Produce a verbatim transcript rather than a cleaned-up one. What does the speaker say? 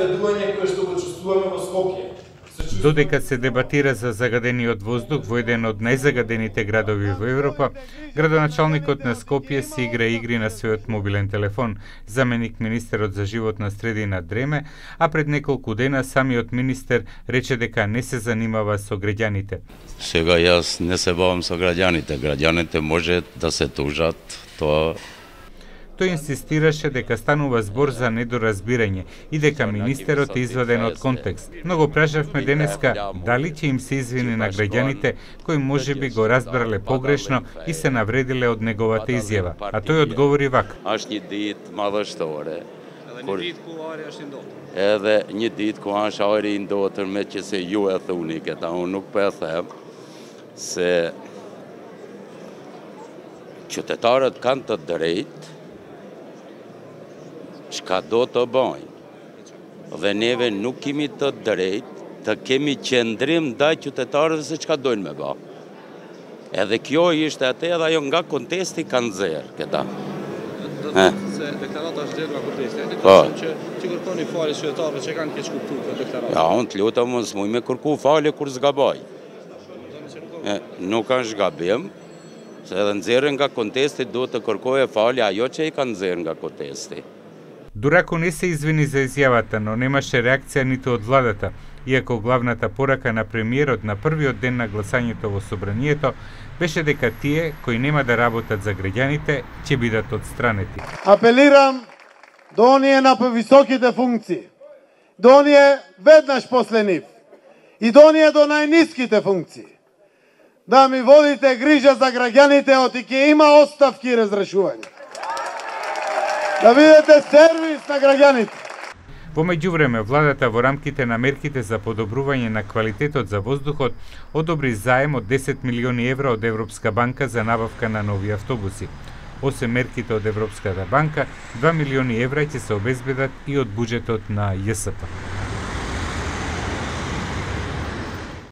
загадување кое што го чувствуваме во Скопје. Додека се дебатира за загадениот воздух во еден од најзагадените градови во Европа, градоначалникот на Скопје си игра игри на својот мобилен телефон. Заменик министерот за животна средина дреме, а пред неколку дена самиот министер рече дека не се занимава со граѓаните. Сега јас не се бавам со граѓаните. Граѓаните може да се тужат, тоа. Тој инсистираше дека станува збор за недоразбирање и дека министерот е изваден од контекст. Но го прашавме денеска дали ќе им се извини на граѓаните кои можеби го разбрале погрешно и се навредиле од неговата изјава. А тој одговори вака. Аш një ditë madhështore. Edhe një ditë ku është ajri i ndotër me që se ju e thuni këta, unë nuk po e them se qytetarët kanë të drejtë çka do të bëjnë. Dhe neve nuk kemi të drejtë të kemi qendrim ndaj qytetarëve se çka dojnë me bë. Edhe kjo ishte atë edhe ajo nga kontesti ka nxjerr këta. Se deklarata është nxjerr nga kontesti. Ne kemi që ti kërkoni falje qytetarëve që kanë keq kuptuar këtë deklaratë. Ja, unë të lutem mos më me kërku falje kur zgaboj. Nuk është gabim, se edhe nxjerrën nga kontesti duhet të kërkoje falje ajo që i kanë nxjerr nga kontesti. Дурако не се извини за изјавата, но немаше реакција ниту од владата, иако главната порака на премиерот на првиот ден на гласањето во собранието беше дека тие кои нема да работат за граѓаните ќе бидат отстранети. Апелирам до оние на повисоките функции, до оние веднаш после нив и до оние до најниските функции, да ми водите грижа за граѓаните, оти ќе има оставки и разрешување. Да бидете сервис на граѓаните. Во меѓувреме, владата во рамките на мерките за подобрување на квалитетот за воздухот одобри заем од десет милиони евра од Европска банка за набавка на нови автобуси. Осем мерките од Европската банка, два милиони евра ќе се обезбедат и од буџетот на Ј С П.